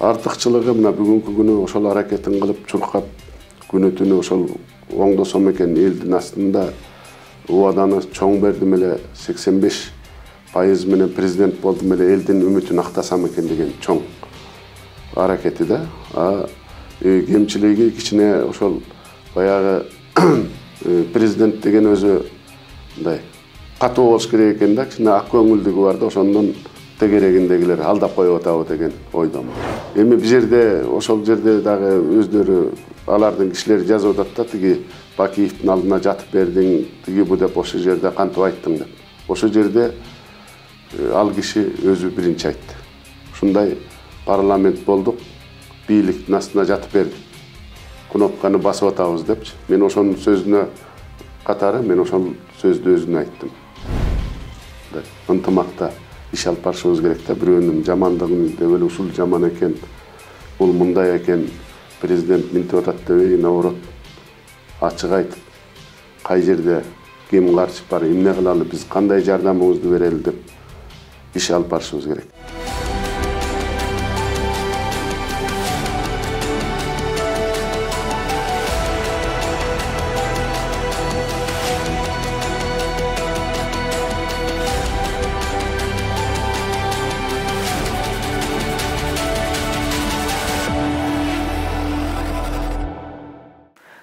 артыкчылыгы мына бүгүнкү күнү ошол аракетин кылып чуркап күнү түнү ошол оңдосом экен элдин астында убаданы чоң бердим эле 85% менен президент болдум эле элдин үмүтүн актасам экен деген чоң аракети да. Кемчилиги кичине ошол баягы президент деген өзү мындай катуу болуш керек экен да, кичине ак көңүлдүгү бар да, ошондон тегерегиндегилер алдап коюп атабы деген ойдомун. Эми бул жерде ошол жерде дагы өздөрү алардын кишилери жазып атат да, тиги Бакиевдин алдына жатып бердиң, тиги бу деп ошол жерде кантип айттың деп. Ошол жерде ал киши өзү биринчи айтты. Ушундай парламент болдук, бийликтин астына жатып бердик. Кнопканы басып атабыз депчи. Мен ошонун сөзүнө катары мен ошол сөздү өзүнө айттым. Ынтымакта иш алып барышыбыз керек да, бирөөнүн жамандыгын деп эле ушул жаман экен, бул мындай экен, президент минтип атат дебей, наоборот, ачык айтып, кай жерде ким каршы бар, эмне кылалы, биз кандай жардамыбызды берели деп иш алып барышыбыз керек.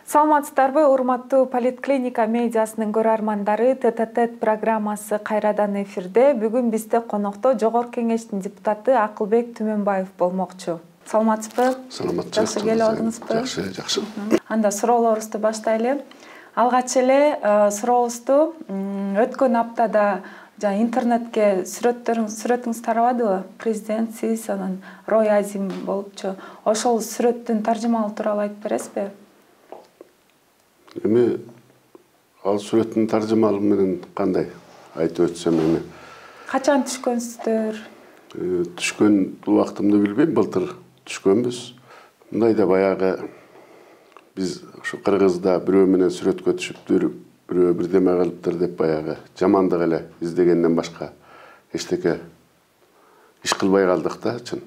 Саламатсыздарбы, урматтуу Политклиника медиасынын көрөрмандары, ТТТ программасы кайрадан эфирде. Бүгүн бизде конокто Жогорку Кеңештин депутаты Акылбек Түмөнбаев болмокчу. Саламатсызбы? Саламатчы. Жакшы келип алдыңызбы? Жакшы. Анда суроолорубузду баштайлы. Алгач эле сурообузду өткөн аптада интернетке сүрөтүңүз тарабадыбы? Президент, сиз, анан Рой Азим болупчу. Ошол сүрөттүн таржымалуу тууралуу айтып бересизби? Эми ал сүрөттүн таржымалуу менен кандай айтып өтсөм, эми качан түшкөнсүздөр? Түшкөн убактымды билбейм, былтыр түшкөнбүз. Мындай да баягы биз ушу Кыргызда бирөө менен сүрөткө түшүптүр, бирөө бирдеме кылыптыр деп баягы жамандык эле издегенден башка эчтеке иш кылбай калдык да, чын.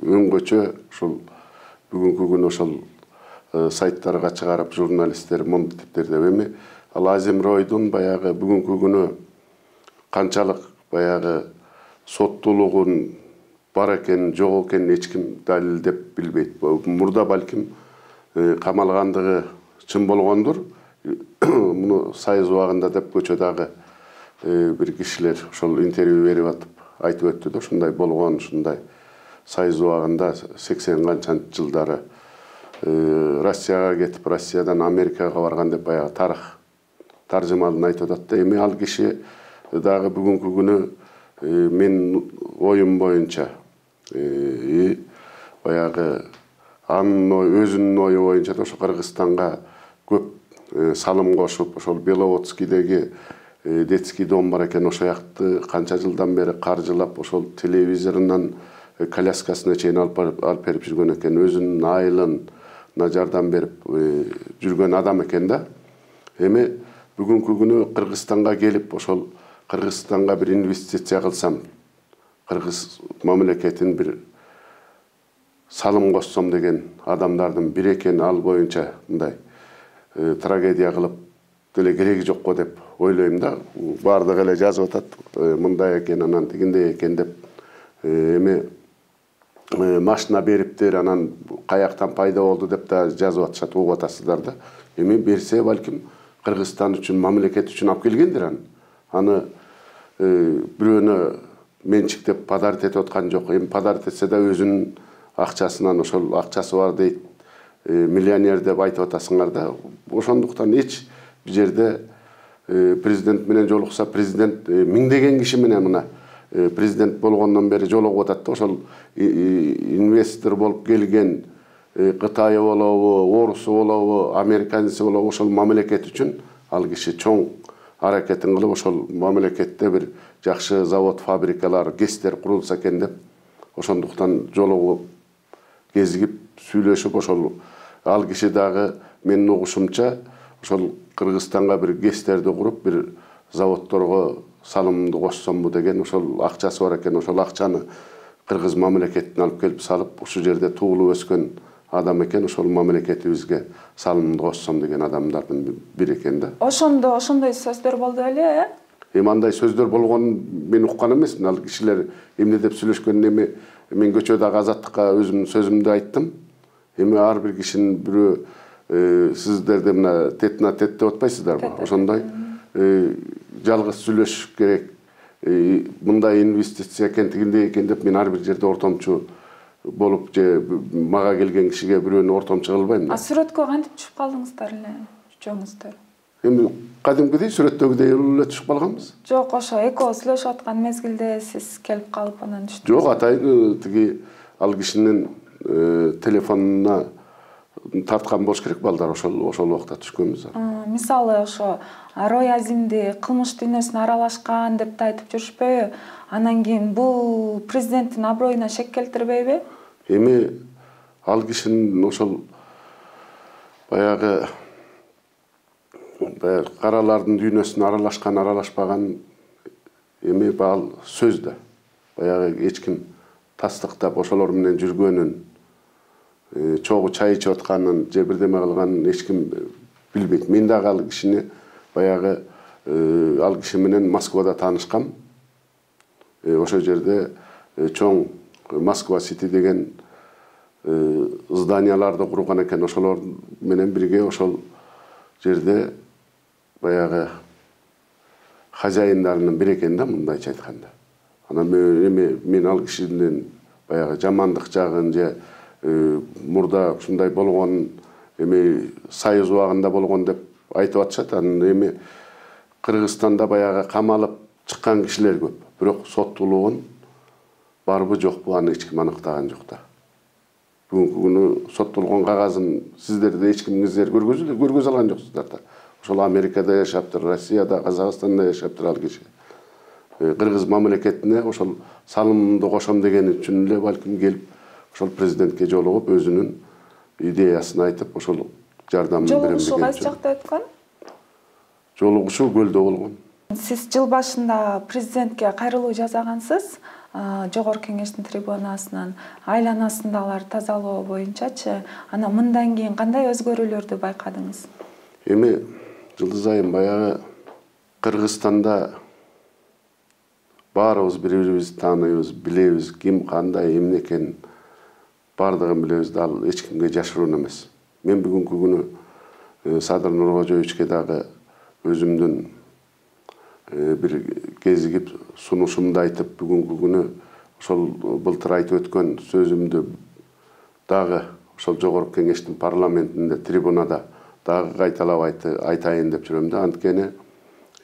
Өңгөчө ушул бүгүнкү күнү ошол сайттарга чыгарып журналисттер монтиптер деп, эми ал Азим Ройдун баягы бүгүнкү күнү канчалык баягы соттуулугун бар экенин, жок экенин эч ким далилдеп билбейт. Мурда балким камалгандыгы чын болгондур. Муну сайыз убагында деп көчөдөгү бир кишилер ошол интервью берип атып айтып өттү да, ушундай болгон, ушундай сайыз убагында 80 канчанчы жылдары Россияга кетип, Россиядан Америкага барган деп баягы тарых таржымалын айтып атат да. Эми ал киши дагы бүгүнкү күнү мен оюм боюнча баягы анын өзүнүн ою боюнча да ошо Кыргызстанга көп салым кошуп, ошол Беловодскийдеги детский дом бар экен, ошол жакты канча жылдан бери каржылап, ошол телевизорунан коляскасына чейин алып берип жүргөн экен, өзүнүн айылын жардам берип жүргөн адам экен да. Эми бүгүнкү күнү Кыргызстанга келип, ошол Кыргызстанга бир инвестиция кылсам, Кыргыз мамлекетин бир салым кошсом деген адамдардын бири экен, ал боюнча мындай трагедия кылып деле кереги жок го деп ойлойм да. Бардыгы эле жазып атат, мындай экен, анан тигиндей экен деп. Эми машина бериптир, анан каяктан пайда болду деп да жазып атышат, угуп атасыздар да. Эми берсе балким Кыргызстан үчүн, мамлекет үчүн алып келгендир аны бирөөнө менчиктеп подарить этип аткан жок. Эми подарить этсе да өзүнүн акчасынан, ошол акчасы бар дейт, миллионер деп айтып атасыңар да. Ошондуктан эч бир жерде президент менен жолукса, президент миңдеген киши менен мына президент болгондон бери жолугуп атат да, ошол инвестор болуп келген Кытайы болобу, орусу болобу, американцы болобу, ошол мамлекет үчүн ал киши чоң аракетин кылып, ошол мамлекетте бир жакшы завод, фабрикалар, ГЭСтер курулса экен деп, ошондуктан жолугуп, кезигип, сүйлөшүп, ошол ал киши дагы менин угушумча ошол Кыргызстанга бир ГЭСтерди куруп, бир заводторго салымды кошсомбу деген ошол акчасы бар экен. Ошол акчаны кыргыз мамлекетин алып келип салып, ушул жерде туулуп өскөн адам экен, ошол мамлекетибизге салымымды кошсом деген адамдардын бири экен да. Ошондой сөздөр болду беле, Эми андай сөздөр болгонун мен уккан эмесмин. Ал кишилер эмне деп сүйлөшкөнүн эми мен көчөдөгү азаттыкка өзүмдүн сөзүмдү айттым. Эми ар бир кишинин бирөө сиздерде мына тет деп атпайсыздарбы? Ошондой жалгыз сүйлөшүш керек. Мындай инвестиция экен, тигиндей экен деп мен ар бир жерде ортомчу болуп же мага келген кишиге бирөөнү ортомчу кылбайм да. Сүрөткө кантип түшүп калдыңыздар эле, үчөөңүздөр? Эми кадимкидей сүрөттөгүдөй эле түшүп калганбыз. Жок, ошо экөө сүйлөшүп аткан мезгилде сиз келип калып анан түштүңүз. Жок, атайын тиги ал кишинин телефонуна тарткан болуш керек балдар, ошол убакта түшкөнбүз. Мисалы ошо Рой Азимди кылмыш дүйнөсүнө аралашкан деп да айтып жүрүшпөйбү? Анан кийин бул президенттин аброюна шек келтирбейби? Эми ал кишинин ошол баягы каралардын дүйнөсүнө аралашкан, аралашпаган эми ал сөз да. Баягы эч ким тастыктап ошолор менен жүргөнүн, чогуу чай ичип атканын, же бирдеме кылганын эч ким билбейт. Мен дагы ал кишини баягы ал киши менен Москвада таанышкам. Ошол жерде чоң Москва Сити деген зданияларды курган экен. Ошолор менен бирге ошол жерде баягы хозяиндарынын бири экен да, мындайча айтканда. Анан эми мен ал кишинин баягы жамандык жагын же мурда ушундай болгон, эми Союз убагында болгон деп айтып атышат. Анан эми Кыргызстанда баягы камалып чыккан кишилер көп. Бирок соттуулугун барбы жокпу аны эч ким аныктаган жок да. Бүгүнкү күнү соттолгон кагазын сиздерде эч кимиңиздер көргөзө алган жоксуздар да. Ошол Америкада жашаптыр, Россияда, Казакстанда жашаптыр ал киши. Кыргыз мамлекетине ошол салымымды кошом деген үчүн эле балким келип, ошол президентке жолугуп, өзүнүн идеясын айтып, ошол жардамын берем деген. Жолугушуу кайсы жакта өткөн? Жолугушуу Көлдө болгон. Сиз жыл башында президентке кайрылуу жасагансыз, Жогорку Кеңештин трибунасынан, айланасындагылар тазалоо боюнчачы. Анан мындан кийин кандай өзгөрүүлөрдү байкадыңыз? Эми Жылдыз айым баягы Кыргызстанда баарыбыз бири-бирибизди тааныйбыз, билебиз, ким кандай эмне экенин бардыгын билебиз да, ал эч кимге жашыруун эмес. Мен бүгүнкү күнү Садыр Нуркожоевичке дагы өзүмдүн бир кезигип сунушумду айтып, бүгүнкү күнү ошол былтыр айтып өткөн сөзүмдү дагы ошол Жогорку Кеңештин парламентинде, трибунада дагы кайталап айтайын деп жүрөм да. Анткени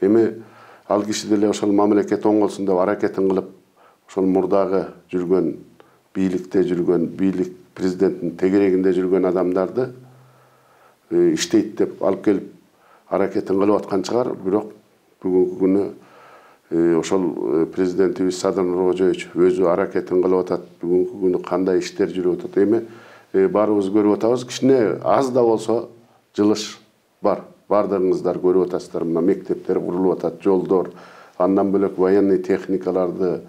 эми ал киши деле ошол мамлекет оңолсун деп аракетин кылып, ошол мурдагы жүргөн, бийликте жүргөн, бийлик президенттин тегерегинде жүргөн адамдарды иштейт деп алып келип аракетин кылып аткан чыгар. Бирок бүгүнкү күнү ошол президентибиз Садыр Нуркожоевич өзү аракетин кылып атат. Бүгүнкү күнү кандай иштер жүрүп атат. Эми баарыбыз көрүп атабыз. Кичине аз да болсо жылыш бар. Бардыгыңыздар көрүп атасыздар. Мына мектептер курулуп атат, жолдор, андан бөлөк военный техникаларды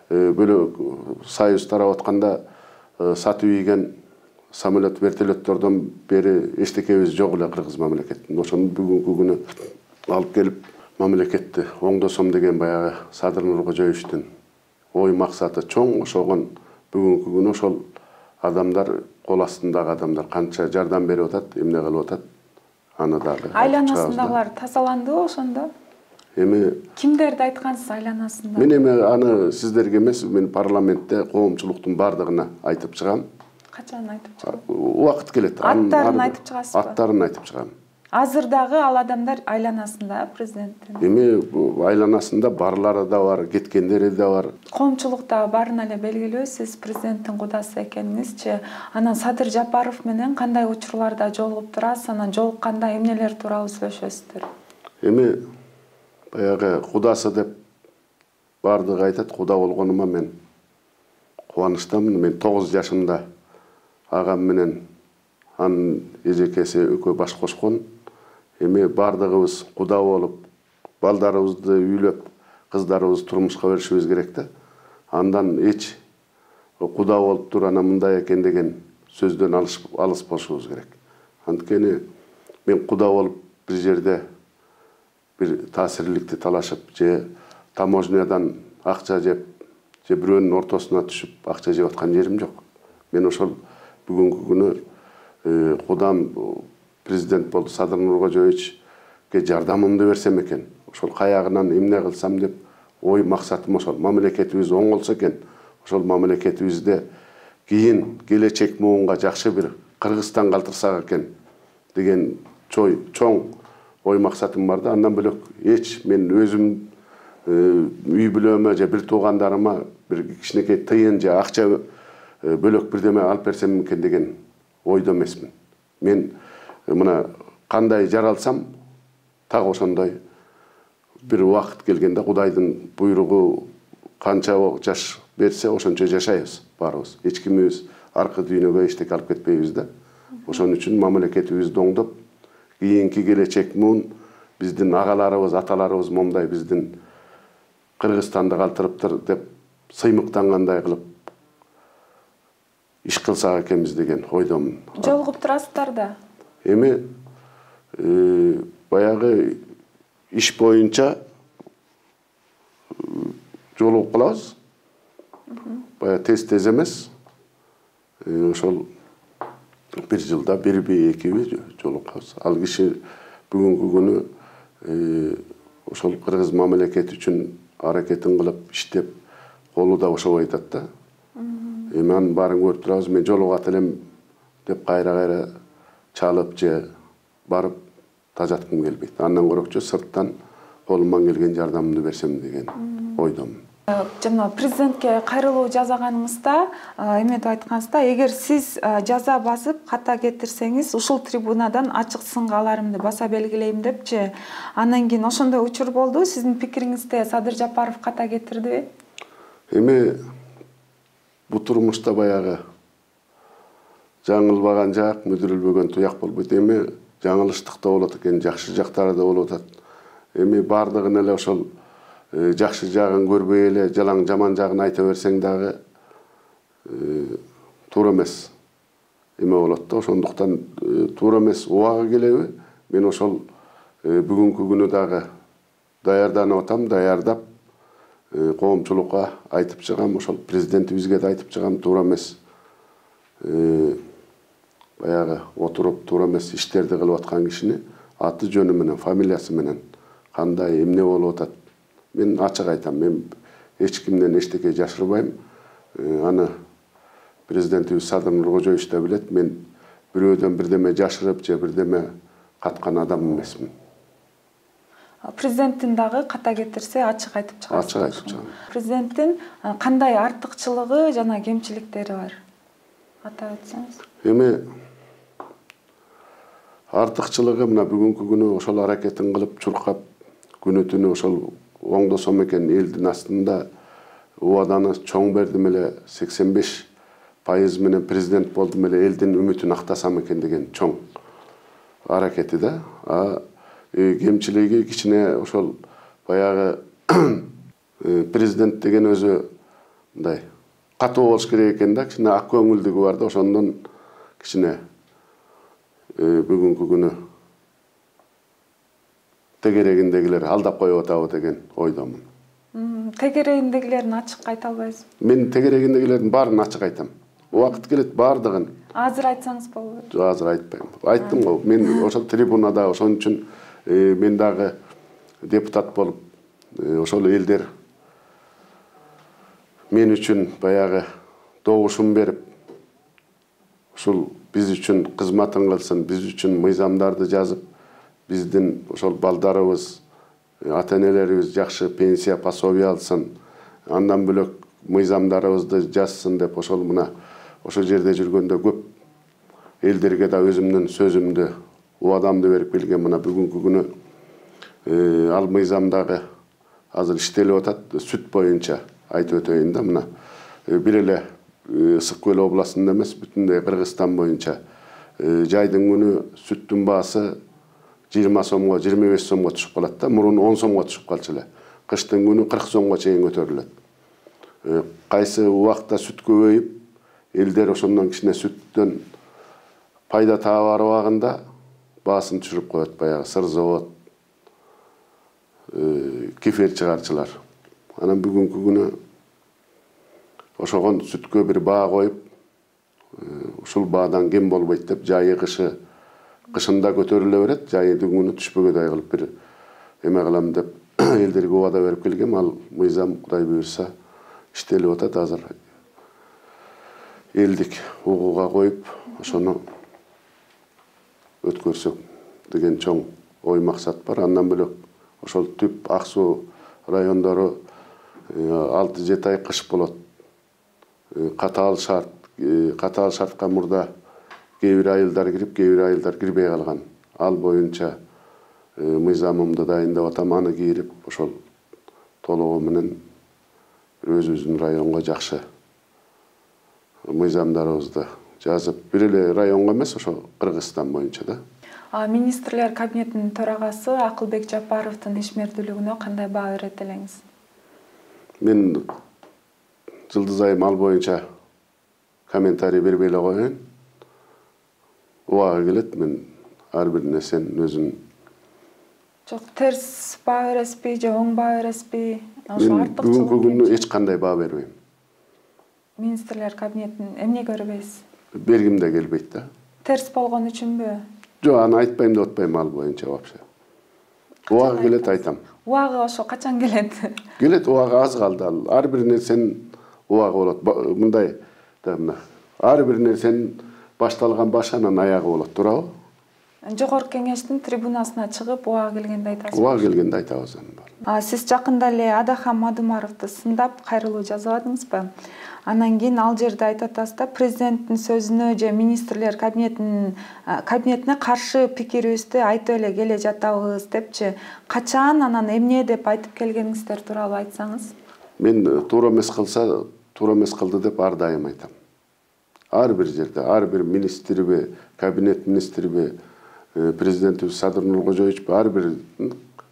бөлөк Союз тарап атканда сатып ийген самолет, вертолеттордон бери эчтекебиз жок эле Кыргыз мамлекетинде. Ошону бүгүнкү күнү алып келип мамлекетти оңдосом деген баягы Садыр Нуркожоевичтин ой максаты чоң. Ошогон бүгүнкү күнү ошол адамдар, кол астындагы адамдар канча жардам берип атат, эмне кылып атат, аны дагы айланасындагылар тазаландыбы ошондо? Эми кимдерди айткансыз айланасында? Мен эми аны сиздерге эмес, мен парламентте коомчулуктун бардыгына айтып чыгам. Качан айтып чыгам? Убакыт келет. Аттарын айтып чыгасызбы? Аттарын айтып чыгам. Азыр дагы ал адамдар айланасында президенттин? Эми айланасында барлары да бар, кеткендери да бар. Коомчулукта баарына эле белгилүү, сиз президенттин кудасы экениңизчи. Анан Садыр Жапаров менен кандай учурларда жолугуп турасыз? Анан жолукканда эмнелер тууралуу сүйлөшөсүздөр? Эми баягы кудасы деп бардыгы айтат. Куда болгонума мен кубанычтамын. Мен 9 жашымда агам менен анын эжекеси экөө баш кошкон. Эми бардыгыбыз куда болуп, балдарыбызды үйлөп, кыздарыбызды турмушка беришибиз керек да. Андан эч куда болуп тур, анан мындай экен деген сөздөн алыс болушубуз керек. Анткени мен куда болуп бир жерде бир таасирликти талашып же таможнядан акча жеп же бирөөнүн ортосуна түшүп акча жеп аткан жерим жок. Мен ошол бүгүнкү күнү кудам президент болду, Садыр Нуркожоевичке жардамымды берсем экен, ошол каягынан эмне кылсам деп ой максатым ошол. Мамлекетибиз оңолсо экен, ошол мамлекетибизде кийин келечек муунга жакшы бир Кыргызстан калтырсак экен деген чоң ой максатым бар да. Андан бөлөк мен өзүм үй бүлөмө же бир туугандарыма бир кичинекей тыйын же акча бөлөк бирдеме алып берсем экен деген ойдо эмесмин. Мен мына кандай жаралсам так ошондой бир убакыт келгенде Кудайдын буйругу канча жаш берсе ошончо жашайбыз баарыбыз. Эч кимибиз аркы дүйнөгө эчтеке алып кетпейбиз да. Ошон үчүн мамлекетибизди оңдоп, кийинки келечек муун биздин агаларыбыз, аталарыбыз момундай биздин Кыргызстанды калтырыптыр деп сыймыктангандай кылып иш кылсак экенбиз деген ойдомун. Жолугуп турасыздар да? Эми баягы иш боюнча жолугуп калабыз. Бая тез эмес. Ошол бир жылда бирби экиби жолугабыз. Ал киши бүгүнкү күнү ошол кыргыз мамлекети үчүн аракетин кылып иштеп колу да ошобой атат да. Эми анын баарын көрүп турабыз. Мен жолугат элем деп кайра чалып же барып тажаткым келбейт. Андан көрөкчү сырттан колуман келген жардамымды берсем деген ойдомун. Жана президентке кайрылуу жасаганыңызда эметип айткансызда, эгер сиз жаза басып ката кетирсеңиз, ушул трибунадан ачык сынга аларымды баса белгилейм депчи. Андан кийин ошондой учур болду. Сиздин пикириңизде Садыр Жапаров ката кетирдиби? Эми бу турмушта баягы жаңылбаган жак, мүдүрүлбөгөн туяк болбойт. Эми жаңылыштык да болот экен, жакшы жактары да болуп атат. Эми бардыгын эле ошол жакшы жагын көрбөй эле жалаң жаман жагын айта берсең дагы туура эмес эме болот да. Ошондуктан туура эмес убагы келеби? Мен ошол бүгүнкү күнү дагы даярданып атам, даярдап коомчулукка айтып чыгам, ошол президентибизге да айтып чыгам, туура эмес баягы отуруп туура эмес иштерди кылып аткан кишини аты жөнү менен, фамилиясы менен кандай эмне болуп атат мен ачык айтам. Мен эч кимден эчтеке жашырбайм. Аны президентибиз Садыр Нуркожоевич да билет. Мен бирөөдөн бирдеме жашырып же бирдеме каткан адам эмесмин. Президенттин дагы ката кетирсе ачык айтып чыгасыз. Ачык айтып чыгам. Президенттин кандай артыкчылыгы жана кемчиликтери бар? Атап өтсөңүз. Эми артыкчылыгы мына бүгүнкү күнү ошол аракетин кылып чуркап күнү түнү ошол оңдосом экен элдин астында убаданы чоң бердим эле 85% менен президент болдум эле элдин үмүтүн актасам экен деген чоң аракети да. Кемчилиги кичине ошол баягы президент деген өзү мындай катуу болуш керек экен да, кичине ак көңүлдүгү бар да, ошондон кичине бүгүнкү күнү тегерегиндегилер алдап коюп атабы деген ойдомун. Тегерегиндегилерин ачык айта албайсызбы? Мен тегерегиндегилердин баарын ачык айтам. Убакыт келет баардыгын. Азыр айтсаңыз болобу? Азыр айтпайм. Айттым го. Мен ошол трибунада ошон үчүн мен дагы депутат болуп, ошол элдер мен үчүн баягы добушун берип, ушул биз үчүн кызматын кылсын, биз үчүн мыйзамдарды жазып, биздин ошол балдарыбыз, ата-энелерибиз жакшы пенсия, пособие алсын, андан бөлөк мыйзамдарыбызды жазсын деп ошол мына ошол жерде жүргөндө көп элдерге да өзүмдүн сөзүмдү, убадамды берип келген. Мына бүгүнкү күнү ал мыйзамдагы азыр иштелип атат. Сүт боюнча айтып өтөйүн да. Мына бир эле Ысык Көл областында эмес, бүтүндөй Кыргызстан боюнча жайдын күнү сүттүн баасы 20 сомго, 25 сомго түшүп калат да. Мурун 10 сомго түшүп калчу эле. Кыштын күнү 40 сомго чейин көтөрүлөт. кайсы убакта сүт көбөйүп элдер ошондон кичине сүттөн пайда таба барбагында баасын түшүрүп коет, баягы сыр завод, кефир чыгарчылар. Анан бүгүнкү күнү ошого сүткө бир баа коюп, ушул баадан кем болбойт деп жайы кышында көтөрүлө берет, жайдын күнү түшпөгөдөй кылып бир эме кылам деп элдерге убада берип келгем. Ал мыйзам Кудай буйрса иштелип атат. Азыр элдик угууга коюп, ошону өткөрсөк деген чоң ой максат бар. Андан бөлөк ошол Түп, Ак Суу райондору 6-7 ай кыш болот. Катаал шартка мурда кээ бир айылдар кирип, кээ бир айылдар кирбей калган. Ал боюнча мыйзамымды дайындап атам, аны кийирип, ошол толугу менен өзүбүздүн районго жакшы мыйзамдарыбызды жазып, бир эле районго эмес, ошо Кыргызстан боюнча да. Министрлер кабинетинин төрагасы Акылбек Жапаровдун ишмердүүлүгүнө кандай баа берет элеңиз? Мен Жылдыз айым ал боюнча комментарий бербей эле коеюн. Убагы келет, мен ар бир нерсенин өзүн жок терс баа бересизби же оң баа бересизби? Мен бүгүнкү күнү эч кандай баа бербейм. Министрлер кабинетин эмнеге бербейсиз? Бергим да келбейт да. Терс болгон үчүнбү? Жок, аны айтпайм деп атпайм ал боюнча вообще. Убагы келет, айтам. Убагы ошо качан келет? Келет, убагы аз калды ал. Ар бир нерсенин убагы болот. Мындай да мына. Ар бир нерсенин башталган башы анан аягы болот, туурабы? Жогорку кеңештин трибунасына чыгып убагы келгенде айтасызбы? Убагы келгенде айтабыз аны. Сиз жакында эле Адахан Мадумаровду сындап кайрылуу жазбадыңызбы? Анан кийин ал жерде айтып атасыз да, президенттин сөзүнө же министрлер кабинетине каршы пикирибизди айтып эле келе жатабыз депчи. Качан, анан эмне деп айтып келгениңиздер тууралуу айтсаңыз? Мен туура эмес кылса, туура эмес кылды деп ар дайым айтам. Ар бир жерде, ар бир министрби, кабинет министрби, президентибиз Садыр Нуркожоевичпи, ар бир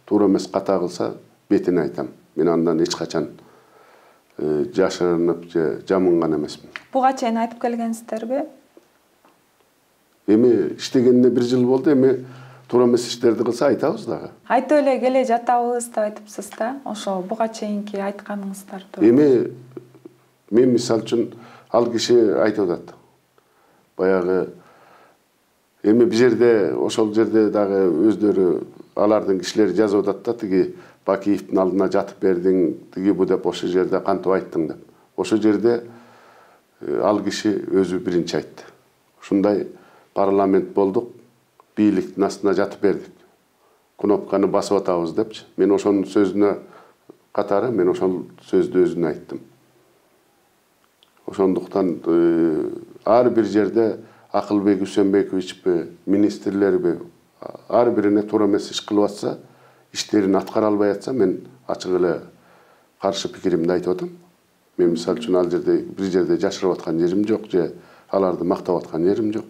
туура эмес ката кылса, бетине айтам. Мен андан эч качан жашырынып же жамынган эмесмин. Буга чейин айтып келгенсиздерби? Эми иштегенине 1 жыл болду, эми туура эмес иштерди кылса айтабыз дагы. Айтып эле келе жатабыз деп айтыпсыз да. Ошо буга чейинки айтканыңыздар тууралуу. Эми мен мисалы үчүн ал киши айтып атат. Баягы эми бир жерде, ошол жерде дагы өздөрү алардын кишилери жазып атат да, тиги Бакиевдин алдына жатып бердиң, тиги бу деп ошол жерде кантип айттың деп. Ошол жерде ал киши өзү биринчи айтты. Ушундай парламент болдук, бийликтин астына жатып бердик. Кнопканы басып атабыз депчи. Мен ошонун сөзүнө катары, мен ошол сөздү өзүнө айттым. Ошондуктан ар бир жерде Акылбек Үсөнбековичпи, министрлерби ар бирине туура эмес иш кылып атса, иштерин аткара албай атса, мен ачык эле каршы пикиримди айтып атам. Мен мисалы үчүн ал жерде бир жерде жашырып аткан жерим жок, же аларды мактап аткан жерим жок.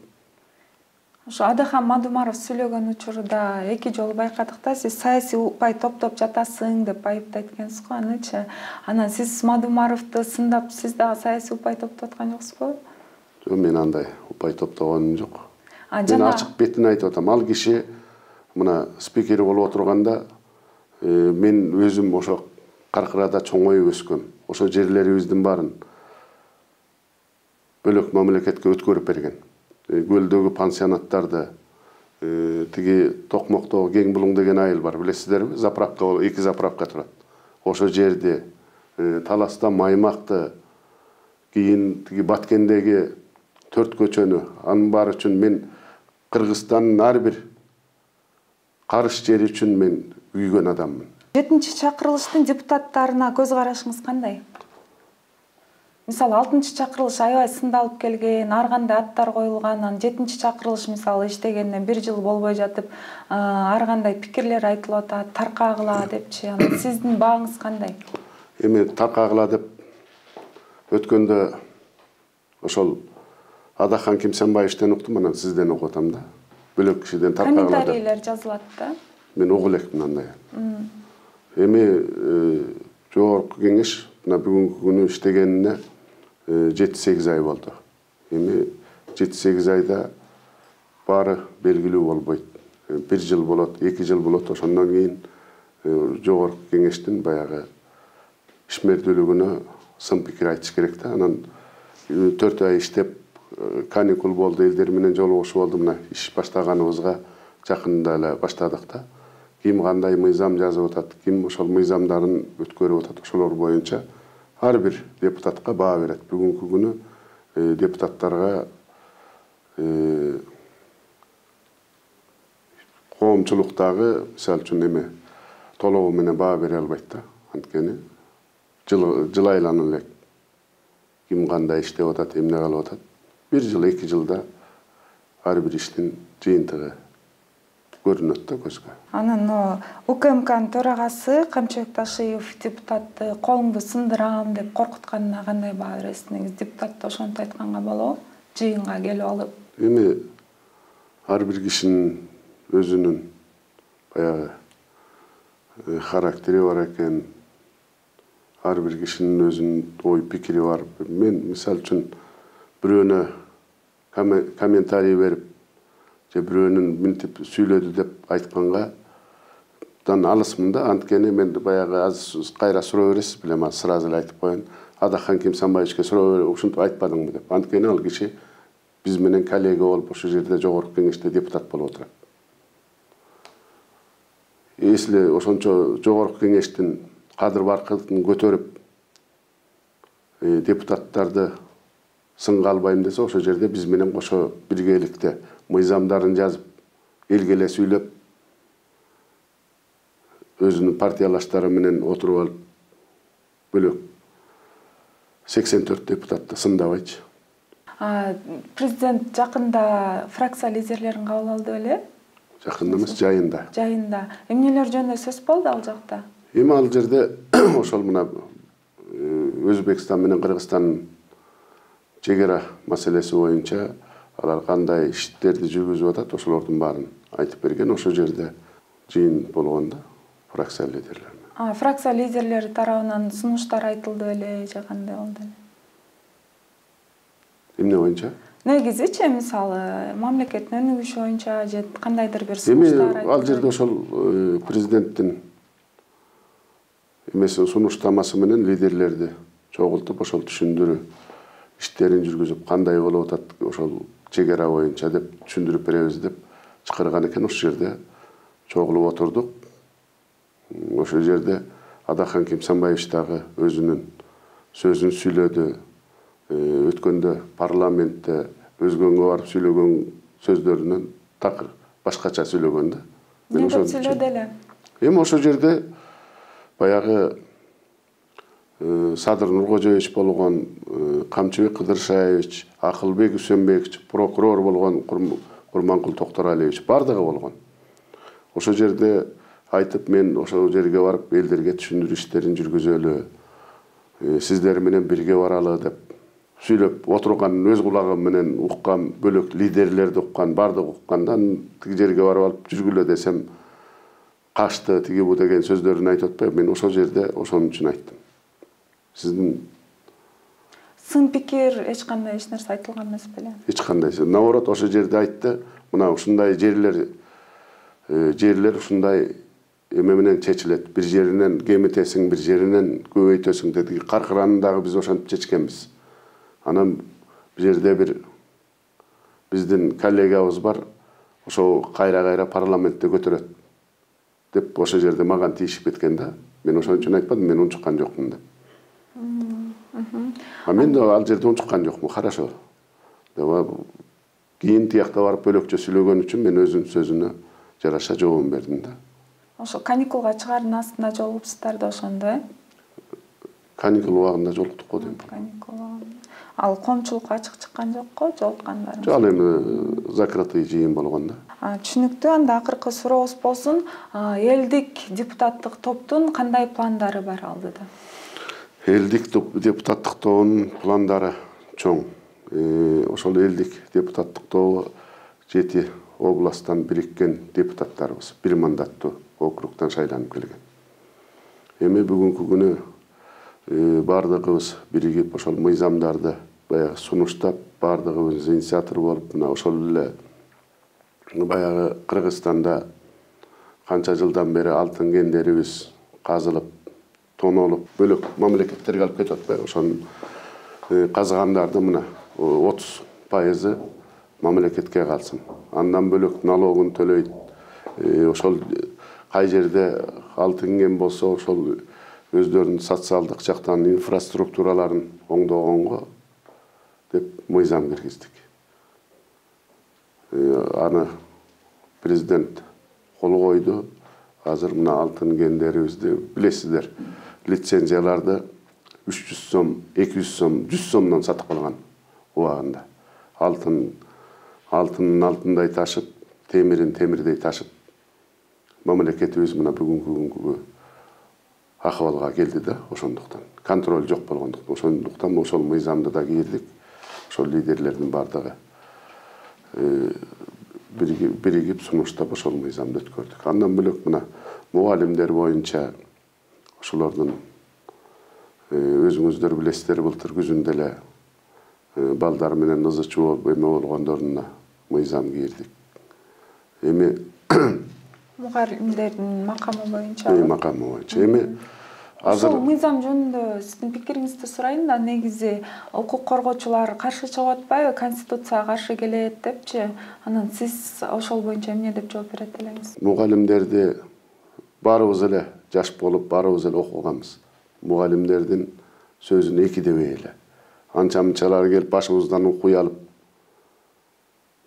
Ошо Адахан Мадумаров сүйлөгөн учурда 2 жолу байкадык да, сиз саясий упай топтоп жатасың деп айыптайт экенсиз го, анычы. Анан сиз Мадумаровду сындап, сиз дагы саясий упай топтоп аткан жоксузбу? Жок, мен андай упай топтогонум жок. Мен ачык бетин айтып атам. Ал киши мына спикер болуп отурганда, мен өзүм ошо Каркырада чоңоюп өскөм. Ошо жерлерибиздин баарын бөлөк мамлекетке өткөрүп берген. Көлдөгү пансионаттарды, тиги Токмоктогу Кең Булуң деген айыл бар, билесиздерби? Заправка, 2 заправка турат. Ошо жерди, Таласта Маймакты, кийин тиги Баткендеги 4 көчөнү, анын баары үчүн мен Кыргызстандын ар бир карыш жери үчүн мен күйгөн адаммын. 7-чакырылыштын депутаттарына көз карашыңыз кандай? Мисалы 6-чакырылыш аябай сындалып келген, ар кандай аттар коюлган, анан 7-чакырылыш мисалы иштегенине 1 жыл болбой жатып, ар кандай пикирлер айтылып атат, таркагыла депчи. Анан сиздин бааңыз кандай? Эми таркагыла деп өткөндө ошол Адахан Кимсенбаевичтен уктум, анан сизден угуп атам да. Бөлөк кишиден таркагыла деп. Комментарийлер жазылат да. Мен угуп элекмин андай. Эми жогорку кеңеш мына бүгүнкү күнү иштегенине 7-8 ай болду. Эми 7-8 айда баары белгилүү болбойт. 1 жыл болот, 2 жыл болот. Ошондон кийин жогорку кеңештин баягы ишмердүүлүгүнө сын пикир айтыш керек да. Анан 4 ай иштеп каникул болду, элдер менен жолугушуу болду. Мына иш баштаганыбызга жакында эле баштадык да. Ким кандай мыйзам жазып атат, ким ошол мыйзамдарын өткөрүп атат, ошолор боюнча ар бир депутатка баа берет. Бүгүнкү күнү депутаттарга коомчулуктагы мисалы үчүн эме толугу менен баа бере албайт да. Анткени жыл айланып элек ким кандай иштеп атат, эмне кылып атат. 1 жыл, 2 жылда ар бир иштин жыйынтыгы көрүнөт да көзгө. Анан УКМКнын төрагасы Камчыбек Ташиев депутатты колуңду сындырам деп коркутканына кандай баа бересиз? Негизи депутат ошентип айтканга болобу? Жыйынга келип алып. Эми ар бир кишинин өзүнүн баягы характери бар экен. Ар бир кишинин өзүнүн ой пикири бар. Мен мисалы үчүн бирөөнө комментарий берип же бирөөнүн мынтип сүйлөдү деп айтканга алысмын да. Анткени мен баягы азыр кайра суроо бересиз беле, мен сразу эле айтып коеюн. Адаххан Кимсанбаевичке суроо берип, ушинтип айтпадыңбы деп. Анткени ал киши биз менен коллега болуп ошол жерде жогорку кеңеште депутат болуп отурат. Если ошончо жогорку кеңештин кадыр-баркытын көтөрүп депутаттарды сынга албайм десе, ошол жерде биз менен кошо биргеликте мыйзамдарын жазып, элге эле сүйлөп, өзүнүн партиялаштары менен отуруп алып, бөлөк 84 депутатты сындабайчы. Президент жакында фракция лидерлерин кабыл алды беле? Жакында эмес, жайында. Жайында. Эмнелер жөнүндө сөз болду ал жакта? Эми ал жерде ошол мына Өзбекстан менен Кыргызстандын чегара маселеси боюнча алар кандай иштерди жүргүзүп атат, ошолордун баарын айтып берген. Ошол жерде жыйын болгондо фракция лидерлери. Фракция лидерлери тарабынан сунуштар айтылды беле же кандай болду эле? Эмне боюнча? Негизичи мисалы мамлекеттин өнүгүшү боюнча же кандайдыр бир сунуштар айтылды. Ал жерде ошол президенттин эмеси сунуштамасы менен лидерлерди чогултуп, ошол түшүндүрүү иштерин жүргүзүп, кандай болуп атат ошол чегара боюнча деп түшүндүрүп беребиз деп чакырган экен. Ошол жерде чогулуп отурдук. Ошол жерде Адаххан Кимсанбаевич дагы өзүнүн сөзүн сүйлөдү. Өткөндө парламентте өзгөнгө барып сүйлөгөн сөздөрүнөн такыр башкача сүйлөгөн да. Эмне деп сүйлөдү эле? Эми ошол жерде баягы Садыр Нуркожоевич болгон, Камчыбек Кыдыршаевич, Акылбек Үсөнбекович, прокурор болгон Курманкул Токторалиевич бардыгы болгон. Ошол жерде айтып, мен ошол жерге барып элдерге түшүндүрүү иштерин жүргүзөлү, сиздер менен бирге баралы деп сүйлөп отурганын өз кулагым менен уккан, бөлөк лидерлерди уккан, бардыгы укканда тиги жерге барып алып жүргүлө десем качты, тиги бу деген сөздөрүн айтып атпайбы. Мен ошол жерде ошон үчүн айттым. Сиздин сын пикир эч кандай эч нерсе айтылган эмес беле? Эч кандай. Наоборот, ошол жерде айтты, мына ушундай жерлер ушундай эме менен чечилет. Бир жеринен кемитесиң, бир жеринен көбөйтөсүң деди. Каркыранын дагы биз ошентип чечкенбиз. Анан бир жерде бир биздин коллегабыз бар, ошо кайра парламентте көтөрөт деп ошол жерде мага тийишип кеткен да. Мен ошон үчүн айтпадым, мен унчуккан жокмун деп. Мен да ал жерде унчуккан жокмун, хорошо. Кийин тиякта барып бөлөкчө сүйлөгөн үчүн мен өзүнүн сөзүнө жараша жообун бердим да. Ошо каникулга чыгаардын астында жолугупсуздар да ошондо, Каникул убагында жолуктук го дейм. Каникул убагында. Ал коомчулукка ачык чыккан жокко, жолуккандар? Жок, ал эми закрытый жыйын болгон да. Түшүнүктүү. Анда акыркы сурообуз болсун, элдик депутаттык топтун кандай пландары бар алдыда? Элдик депутаттык тобунун пландары чоң. Ошол элдик депутаттык тобу 7 областтан бириккен депутаттарыбыз, 1 мандаттуу округтан шайланып келген. Эми бүгүнкү күнү бардыгыбыз биригип ошол мыйзамдарды баягы сунуштап, бардыгыбыз инициатор болуп, мына ошол эле баягы Кыргызстанда канча жылдан бери алтын кендерибиз казылып, тонолуп, бөлөк мамлекеттерге алып кетип атпайбы? Ошонун казыгандарды мына 30% мамлекетке калсын. Андан бөлөк налогун төлөйт. Ошол кай жерде алтын кен болсо, ошол өздөрүнүн социалдык жактан инфраструктураларын оңдогонго деп мыйзам киргиздик. Аны президент кол койду. Азыр мына алтын кендерибизди билесиздер, лицензияларды 300 сом, 200 сом, 100 сомдон сатып калган убагында. Алтынын алтындай ташып, темирин темирдей ташып, мамлекетибиз мына бүгүнкү акыбалга келди да, ошондуктан. Контроль жок болгондуктан, ошондуктан ошол мыйзамды да кирдик. Ошол лидерлердин бардыгы биригип сунуштап ошол мыйзамды өткөрдүк. Андан бөлөк мына мугалимдер боюнча ошолордун өзүңүздөр билесиздер, былтыр күзүндө эле балдар менен ызычуу болуп эме болгондоруна мыйзам кийирдик. Эми мугалимдердин макамы боюнча. Макамы боюнча. Эми азыр ошол мыйзам жөнүндө сиздин пикириңизди сурайын да, негизи укук коргоочулар каршы чыгып атпайбы, конституцияга каршы келет депчи? Анан сиз ошол боюнча эмне деп жооп берет элеңиз? Мугалимдерди баарыбыз эле жаш болуп, баарыбыз эле окуганбыз. Мугалимдердин сөзүн эки дебей эле. Анча-мынчалар келип башыбыздан окуй алып,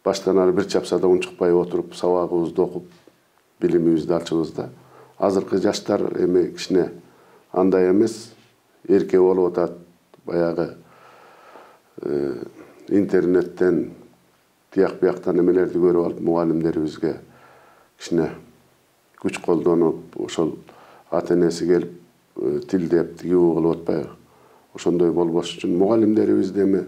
баштан ары бир чапсада унчукпай отуруп, сабагыбызды окуп, билимибизди алчубыз да. Азыркы жаштар эми кичине андай эмес, эрке болуп атат. Баягы интернеттен тияк-бияктан эмелерди көрүп алып, мугалимдерибизге кичине күч колдонуп, ошол ата-энеси келип тилдеп, тигүү кылып атпайбы? Ошондой болбош үчүн мугалимдерибизди эми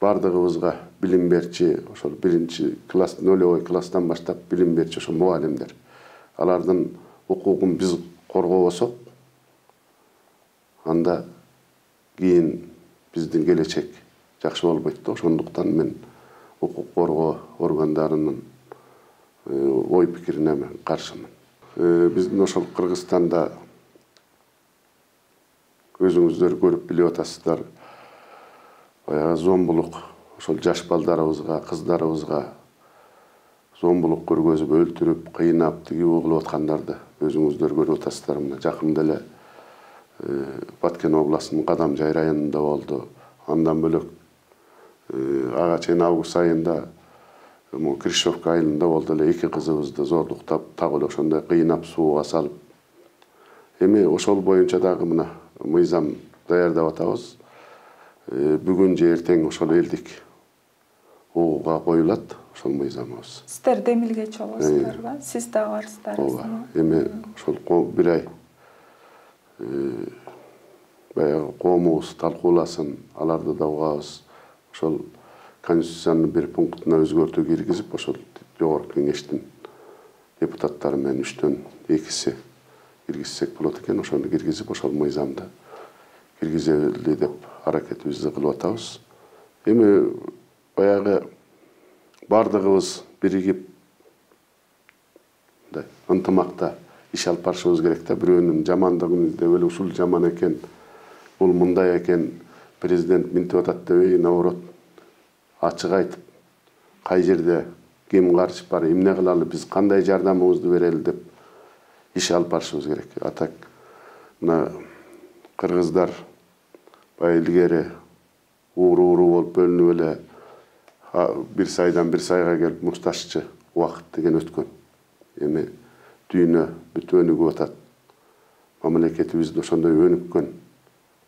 бардыгыбызга билим берчи, ошол 1-класс, 0 класстан баштап билим берчи ошол мугалимдер. Алардын укугун биз коргобосок, анда кийин биздин келечек жакшы болбойт да. Ошондуктан мен укук коргоо органдарынын ой пикирине мен каршымын. Биздин ошол Кыргызстанда өзүңүздөр көрүп билип атасыздар, баягы зомбулук, ошол жаш балдарыбызга, кыздарыбызга зомбулук көргөзүп, өлтүрүп, кыйнап, тигүү кылып аткандарды өзүңүздөр көрүп атасыздар. Мына жакында эле Баткен областынын Кадамжай районунда болду. Андан бөлөк ага чейин август айында Кришовка айылында болду эле, 2 кызыбызды зордуктап, так эле ошондой кыйнап, сууга салып. Эми ошол боюнча дагы мына мыйзам даярдап атабыз. Бүгүн же эртең ошол элдик ууга коюлат ошол мыйзамыбыз. Сиздер демилгечи болосуздар ба? Сиз да барсыздар. Эми ошол бир ай баягы коомубуз талкууласын, аларды да угабыз. Ошол Конституциянын бир пунктуна өзгөртүү киргизип, ошол жогорку кеңештин депутаттары менен 3-төн 2-си киргизсек болот экен. Ошону киргизип, ошол мыйзамды киргизели деп аракетибизди кылып атабыз. Эми баягы бардыгыбыз биригип ынтымакта иш алып барышыбыз керек да. Бирөөнүн жамандыгын издеп эле ушул жаман экен, бул мындай экен, президент минтип атат дебей, наоборот, ачык айтып, кай жерде ким каршы бар, эмне кылалы, биз кандай жардамыбызды берели деп иш алып барышыбыз керек. Атак мына кыргыздар баягы илгери ууру болуп бөлүнүп эле бир сайдан бир сайга келип мушташчы убакыт деген өткөн. Эми дүйнө бүтүп өнүгүп атат. Мамлекетибизди ошондой өнүккөн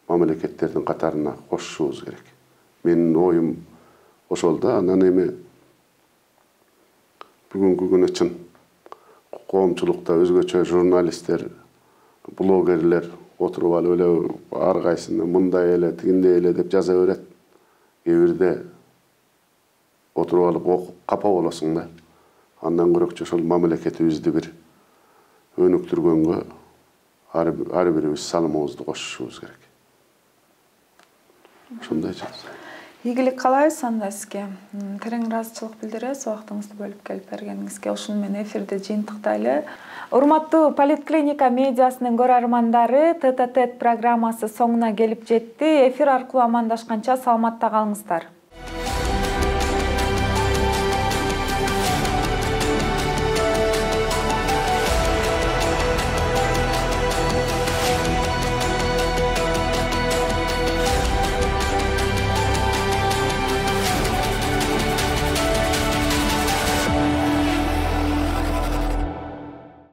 мамлекеттердин катарына кошушубуз керек. Менин оюм ошол да. Анан эми бүгүнкү күнү чын коомчулукта өзгөчө журналисттер, блогерлер отуруп алып эле ар кайсыны мындай эле, тигиндей эле деп жаза берет. Кээ бирде отуруп алып окуп капа болосуң да. Андан көрөкчү ошол мамлекетибизди бир өнүктүргөнгө ар бирибиз салымыбызды кошушубуз керек. ошондой жазуу. Ийгилик каалайбыз анда сизге. Терең ыраазычылык билдиребиз убактыңызды бөлүп келип бергениңизге. Ушуну менен эфирди жыйынтыктайлы. Урматтуу Политклиника медиасынын көрөрмандары, ТТТ программасы соңуна келип жетти. Эфир аркылуу амандашканча саламатта калыңыздар.